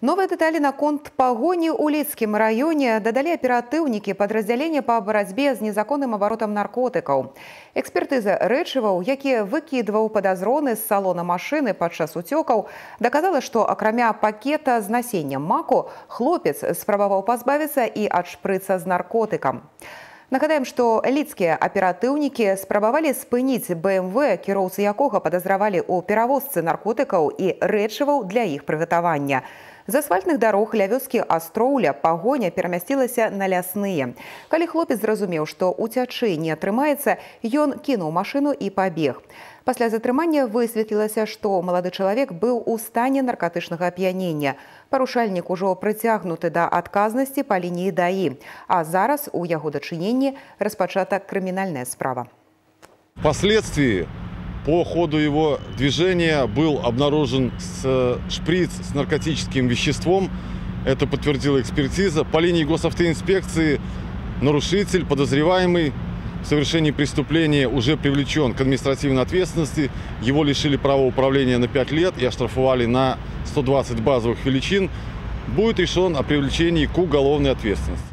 Новые детали на конт погони у Лідскім районе дадалі аператыўнікі падраздзялення па барацьбе з незаконным абаротам наркотыкаў. Экспертыза рэчываў, які выкідваў падазроны з салона машыны падчас уцёкаў, даказала, што акрамя пакета з насеннем маку, хлопец спрабаваў пазбавіцца і ад шпрыца з наркотыкам. Нагадаем, што лідскія аператыўнікі спрабавалі спыніць БМВ, кіроўцы якога падазравалі ў перавозцы наркотыкаў і рэчываў для іх прыгатавання. З асфальтных дарог ля вёскі Астроўля пагоня перамясцілася на лясныя. Калі хлопец зразумеў, што уцячы не атрымаецца, ён кінуў машыну і пабег. Пасля затрымання высветлілася, што малады чалавек быў у стане наркатычнага ап'янення. Парушальнік ужо прыцягнуты да адказнасці па лініі ДАІ, а зараз у яго дачыненні распачата крымінальная справа. Впоследствии по ходу его движения был обнаружен шприц с наркотическим веществом. Это подтвердила экспертиза. По линии госавтоинспекции нарушитель, подозреваемый в совершении преступления, уже привлечен к административной ответственности. Его лишили права управления на 5 лет и оштрафовали на 120 базовых величин. Будет решен о привлечении к уголовной ответственности.